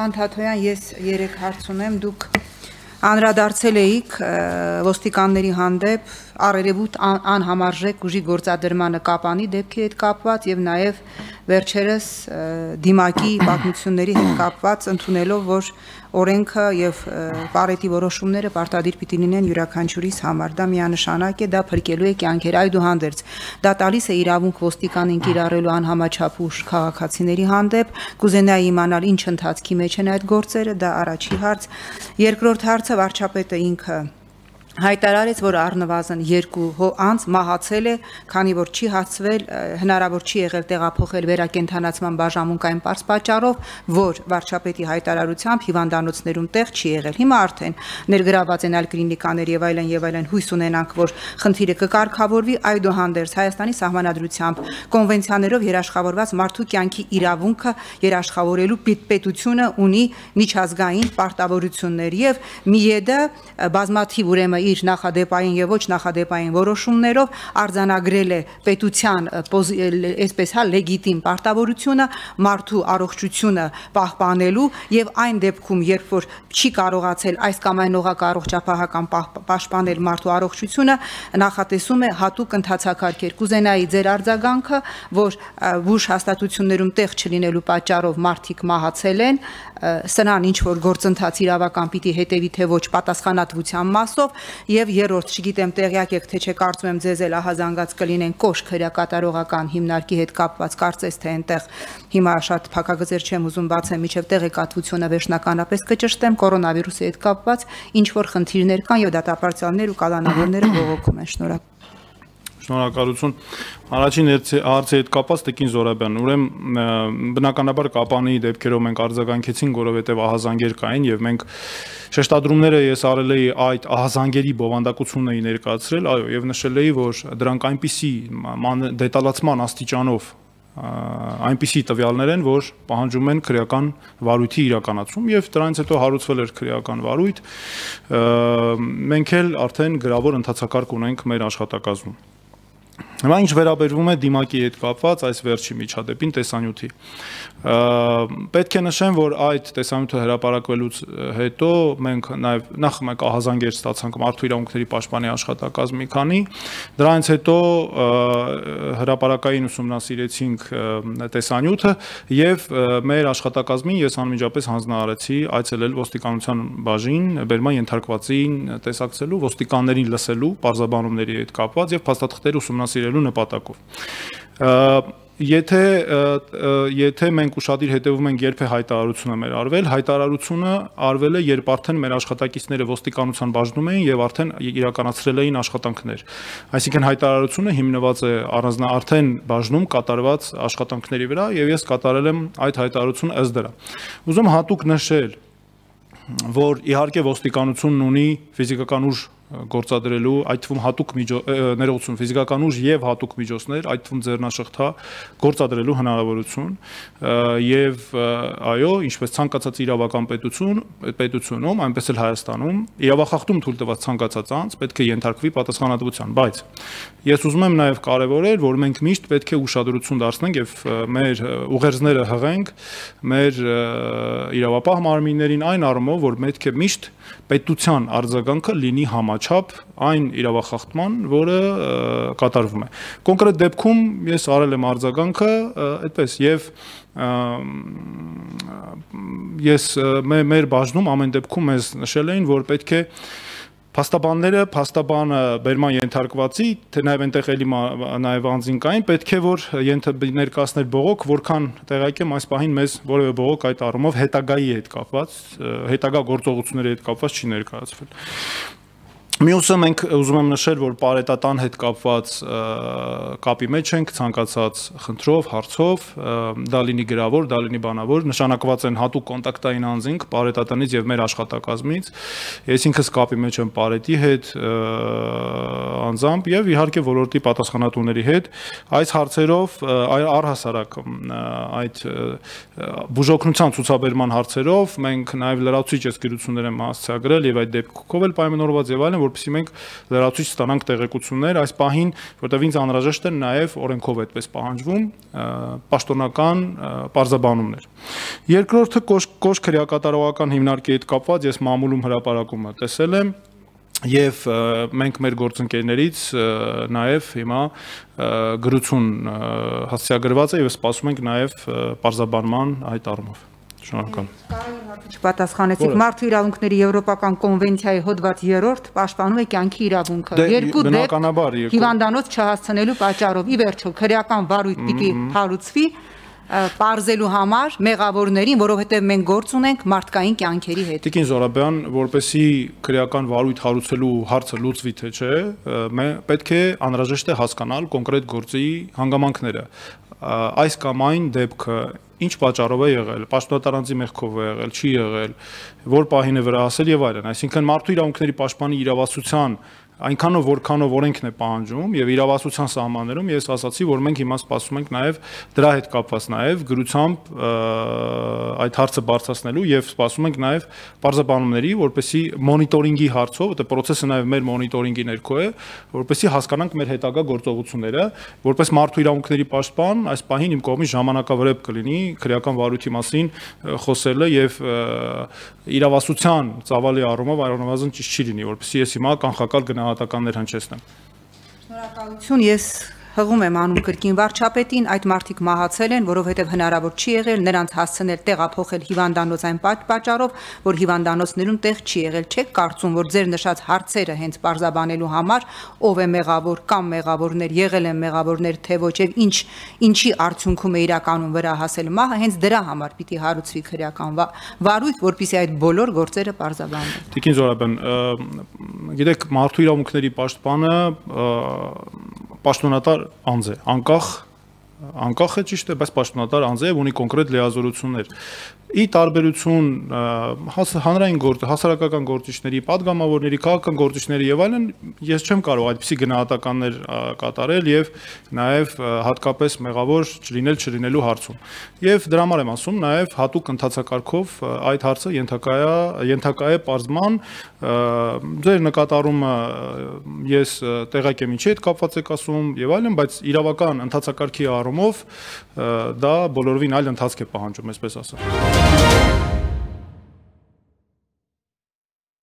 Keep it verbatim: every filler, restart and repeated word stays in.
Պարոն Թաթոյան, ես երեք հարց ունեմ, դուք անդրադարձել էիք ոստիկանների հանդեպ առերևույթ անհամարժեք ուժի գործադրմանը Կապանի դեպքի հետ կապված եւ նաեւ վերջերս դիմակի պատմությունների հետ կապված ընդունելով, որ օրենքը եւ պարետի որոշումները պարտադիր պիտի լինեն յուրաքանչյուրիս համար, դա միանշանակ է, դա փրկելու է կյանքեր, այդուհանդերձ դա տալիս է իրավունք ոստիկանին կիրառելու անհամաչափ ուժ քաղաքացիների հանդեպ, կուզենայի իմանալ ինչ ընթացքի մեջ են այդ գործերը, դա առաջի հարց, երկրորդ հարցը վարչապետը ինքը հայտարարեց, որ առնվազն երկու անձ մահացել է, քանի որ չի հացվել, հնարավոր չի եղել տեղափոխել վերակենդանացման բաժանմունքային պարզ պատճառով, որ վարչապետի հայտարարությամբ հիվանդանոցներում տեղ չի եղել։ Հիմա արդեն ներգրաված են այլ կլինիկաներ եւ այլն եւ այլն, հույս ունենանք, որ խնդիրը կկարգավորվի, այդուհանդերձ Հայաստանի սահմանադրությամբ կոնվենցիաներով երաշխավորված մարդու կյանքի իրավունքը երաշխավորելու պետությունը ունի միջազգային պարտավորություններ եւ ՄԻԵԴ-ը բազմաթիվ ուրեմն իր նախադեպային եւ ոչ նախադեպային որոշումներով արձանագրել է պետության այսպես հա լեգիտիմ պարտավորությունը մարդու առողջությունը պահպանելու եւ այն դեպքում, երբ որ չի կարողացել այս կամ այն օղակառողջապահական պաշտպանել մարդու առողջությունը, նախատեսում է հատուկ ընթացակարգեր։ Կուզենայի ձեր արձագանքը, որ բուժ հաստատություններում տեղ չլինելու պատճառով մարդիկ մահացել են, սրան ինչ որ գործընթաց իրավական պիտի հետևի թե ոչ պատասխանատվության մասով եւ երրորդ, չգիտեմ տեղյակ եք թե չէ, կարծում եմ ձեզ էլ ահազանգած կլինեն կոշտ քրեակատարողական հիմնարկի հետ կապված, կարծես թե այնտեղ հիմա շատ փակագծեր չեմ ուզում բացեմ, միջև տեղեկատվությունը վերջնականապես կճշտեմ, կորոնավիրուսի հետ կապված ինչ որ խնդիրներ կան եւ դատապարտյալներ ու կալանավորները բողոքում են։ Շնորհակալ Շնորհակալություն։ Առաջին հարցի հետ կապված Տիկին Զորաբյան, ուրեմն բնականաբար Կապանի դեպքերով մենք արձագանքեցինք, որովհետև ահազանգեր կային եւ մենք շեշտադրումները ես արել էի այդ ահազանգերի բովանդակությունն էի ներկայացրել, այո, եւ նշել էի, որ դրանք այնպիսի դետալացման աստիճանով այնպիսի տվյալներ են, որ պահանջում են քրեական վարույթի իրականացում եւ դրանից հետո հարուցվել էր քրեական վարույթ, մենք էլ արդեն գրավոր ընթացակարգ ունենք մեր աշխատակազմում։ Հիմա ինչ վերաբերվում է դիմակի հետ կապված այս վերջի միջադեպին տեսանյութի, պետք է նշեմ, որ այդ տեսանյութը հրապարակվելուց հետո մենք նաև նախ մեկ ահազանգեր ստացանք մարդու իրավունքների պաշտպանի աշխատակազմի քանի, դրանից հետո հրապարակային ուսումնասիրեցինք տեսանյութը եւ մեր աշխատակազմին ես անմիջապես հանձնարարեցի այցելել ոստիկանության բաժին, բերման ենթարկվածին տեսակցելու, ոստիկաններին լսելու, պարզաբանումների հետ կապված եւ փաստաթղթեր ուսումնասիրելու նպատակով։ Եթե եթե մենք ուշադիր հետևում ենք երբ է հայտարարությունը մեր արվել, հայտարարությունը արվել է, երբ արդեն մեր աշխատակիցները ոստիկանության բաժնում էին եւ արդեն իրականացրել էին աշխատանքներ։ Այսինքն հայտարարությունը հիմնված է առանձնա արդեն բաժնում կատարված աշխատանքների վրա եւ ես կատարել եմ այդ հայտարարությունը ըստ դրա։ Ուզում հատուկ նշել, որ իհարկե ոստիկանությունն ունի ֆիզիկական ուժ գործադրելու, այդ թվում հատուկ ներողություն, ֆիզիկական ուժ եւ հատուկ միջոցներ, այդ թվում ձեռնաշղթա գործադրելու հնարավորություն եւ այո, ինչպես ցանկացած իրավական պետություն, պետությունում, այնպես էլ Հայաստանում իրավախախտում թույլ տված ցանկացած անձ պետք է ենթարկվի պատասխանատվության, բայց ես ուզում եմ նաեւ կարեւորել, որ մենք միշտ պետք է ուշադրություն դարձնենք եւ մեր ուղերձները հղենք մեր իրավապահ մարմիններին այն առումով, որ պետք է միշտ պետության արձագանքը լինի համաչափ այն իրավախախտման, որը կատարվում է։ Կոնկրետ դեպքում ես արել եմ արձագանքը այդպես եւ ես մեր բաժնում ամեն դեպքում մեզ նշել էին, որ պետք է փաստաբանները, փաստաբանը բերման ենթարկվածի, թե նաև այնտեղ էլի նաև անձին կային, պետք է որ ներկայացներ բողոք, որքան տեղյակ եմ այս պահին մեզ որևէ բողոք այդ առումով հետագայի հետ կապված, հետագա գործողությունների հետ կապված չի ներկայացվել։ Մյուսը մենք ուզում եմ նշել, որ պարետատան հետ կապված կապի մեջ ենք ցանկացած խնդրով, հարցով, դա լինի գրավոր, դա լինի բանավոր, նշանակված են հատուկ կոնտակտային անձինք պարետատանից եւ մեր աշխատակազմից, ես ինքս կապի մեջ եմ պարետի հետ անձամբ եւ իհարկե ոլորտի պատասխանատուների հետ այս հարցերով առհասարակ այդ բուժօգնության ցուցաբերման հարցերով մենք նաեւ լրացուցիչ եսկիրություններ եմ հասցեագրել եւ այդ դեպքով էլ պայմանավորված եւ այլն, որպեսզի մենք լրացուցիչ ստանանք տեղեկություններ այս պահին, որտեղ ինձ անհրաժեշտ են նաև օրենքով այդպես պահանջվում պաշտոնական պարզաբանումներ։ Երկրորդը կոշտ քրեակատարողական հիմնարկի հետ կապված ես մամուլում հրապարակումը տեսել եմ Եվ մենք մեր գործընկերներից նաև հիմա գրություն հասցեագրված է եւ սպասում ենք նաև պարզաբանման այդ առումով։ Շնորհակալ։ Պատասխանեցիք մարդու իրավունքների եվրոպական կոնվենցիայի հոդված երրորդ պաշտպանում է կյանքի իրավունքը։ Երկու դեպք հիվանդանոց չհասցնելու պատճառով ի վերջո քրեական վարույթ պիտի հարուցվի պարզելու համար մեղավորներին, որովհետև մենք գործ ունենք մարդկային կյանքերի հետ։ Տիկին Զորաբյան, որպեսզի քրեական վարույթ հարուցելու հարցը լուծվի թե չէ, պետք է անհրաժեշտ է հասկանալ կոնկրետ գործի հանգամանքները։ Այս կամ այն դեպքը ինչ պատճառով է եղել, պաշտոնատարանձի մեղքով է եղել, չի եղել, որ պահին է վրահասել եւ այլն։ Այսինքն մարդու իրավունքների պաշտպանի իրավասության այնքանով որքանով օրենքն է պահանջում եւ իրավասության սահմաններում ես ասացի, որ մենք հիմա սպասում ենք նաեւ դրա հետ կապված նաեւ գրությամբ այդ հարցը բարձրացնելու եւ սպասում ենք նաեւ պարզաբանումների, որպեսզի մոնիտորինգի հարցով, որտեղ process-ը նաեւ մեր մոնիտորինգի ներքո է, որպեսզի հասկանանք մեր հետագա գործողությունները, որպես մարդու իրավունքների պաշտպան, այս պահին իմ կողմից ժամանակավրեպ կլինի քրեական վարույթի մասին խոսելը եւ իրավասության ծավալի առումով առնվազն ճիշտ չի լինի, որպեսզի ես հիմա կանխակալ գնահատականներ հնչեցնեմ։ Շնորհակալություն, ես հղում եմ անում կրկին վարչապետին, այդ մարդիկ մահացել են, որովհետև հնարավոր չի եղել նրանց հասցնել տեղափոխել հիվանդանոց այն պատճառով, որ հիվանդանոցներում տեղ չի եղել։ Չեք կարծում, որ ձեր նշած հարցերը հենց պարզաբանելու համար ով է մեղավոր կամ մեղավորներ, եղել են մեղավորներ, թե ոչ եւ ինչ ինչի արդյունքում է իրականում վրա հասել մահը, հենց դրա համար պիտի հարուցվի քրեական վարույթ, որպեսզի այդ բոլոր գործերը պարզաբանվեն։ Տիկին Զորաբյան, գիտեք, մարդու իրավունքների պաշտպանը պաշտոնատար անձ է, անկախ անկախ է ճիշտ է, բայց պաշտոնատար անձ է եւ ունի կոնկրետ լիազորություններ։ Ի տարբերություն հանրային գործ, հասարակական գործիչների, падգամավորների, քաղաքական գործիչների եւ այլն, ես չեմ կարող այդպիսի գնահատականներ կատարել եւ նաեւ հատկապես մեղավոր չլինել չլինելու հարցում։ Եվ դրա համար եմ ասում, նաեւ հատուկ ընթացակարգով այդ հարցը ենթակա է ենթակա է պարզման, ձեր նկատառումը ես տեղակ եմ ինչի հետ կապված եք ասում եւ այլն, բայց իրավական ընթացակարգի առումով դա բոլորովին այլ ընթացք է պահանջում, այսպես ասած։